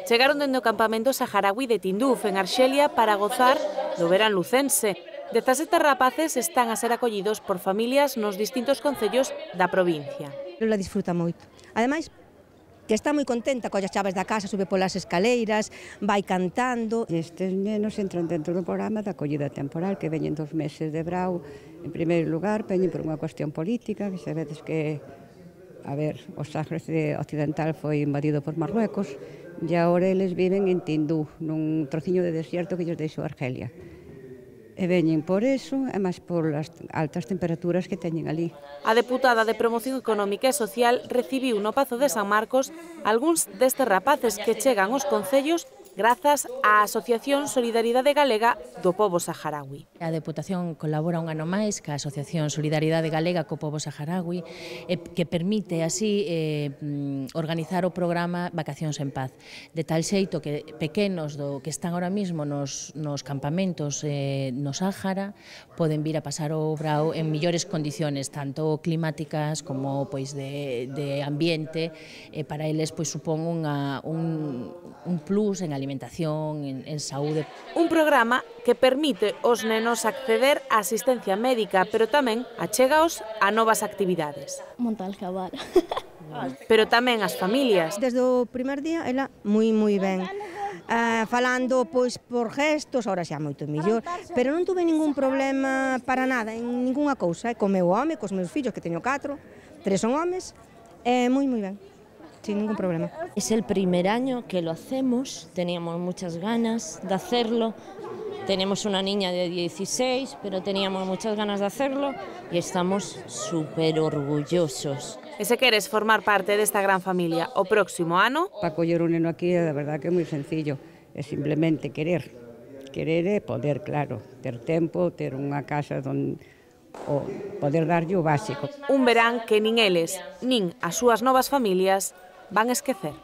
chegaron dende o campamento saharaui de Tinduf, en Arxelia, para gozar do verán lucense. 17 rapaces están a ser acollidos por familias nos distintos concellos da provincia. Lola disfruta moito. Ademais, que está moi contenta, colle as chaves da casa, sube polas escaleiras, vai cantando. Estes nenos entran dentro do programa da acollida temporal, que veñen 2 meses de brao. En primeiro lugar, veñen por unha cuestión política, que sabedes que, o Sáhara Occidental foi invadido por Marruecos, e agora eles viven en Tinduf, nun trociño de desierto que lles deixou Argelia. E veñen por eso, e máis por as altas temperaturas que teñen ali. A deputada de Promoción Económica e Social recibiu no Pazo de San Marcos algúns destes rapaces que chegan aos concellos grazas á Asociación Solidaridade Galega do Pobo Saharaui. A Deputación colabora un ano máis ca Asociación Solidaridade Galega co Pobo Saharaui, que permite así organizar o programa Vacacións en Paz, de tal xeito que pequenos que están ahora mismo nos campamentos no Sáhara poden vir a pasar o brao en millores condiciones, tanto climáticas como de ambiente, para eles supón un plus en alimentación, en saúde. Un programa que permite aos nenos acceder á asistencia médica, pero tamén achégaos a novas actividades. Montar cabal. Pero tamén as familias. Desde o primer día, ela moi ben. Falando por gestos, ahora xa moito mellor, pero non tuve ningún problema para nada, en ninguna cousa, co meu home, cos meus fillos, que teño 4, 3 son homes, moi ben, sin ningún problema. Es el primer año que lo hacemos, teníamos muchas ganas de hacerlo, tenemos una niña de 16, pero teníamos muchas ganas de hacerlo y estamos súper orgullosos. E se queres formar parte desta gran familia o próximo ano... Para coller un neno aquí, de verdad que é moi sencillo, é simplemente querer e poder, claro, ter tempo, ter unha casa onde poder darlle o básico. Un verán que nin eles, nin as súas novas familias van esquecer.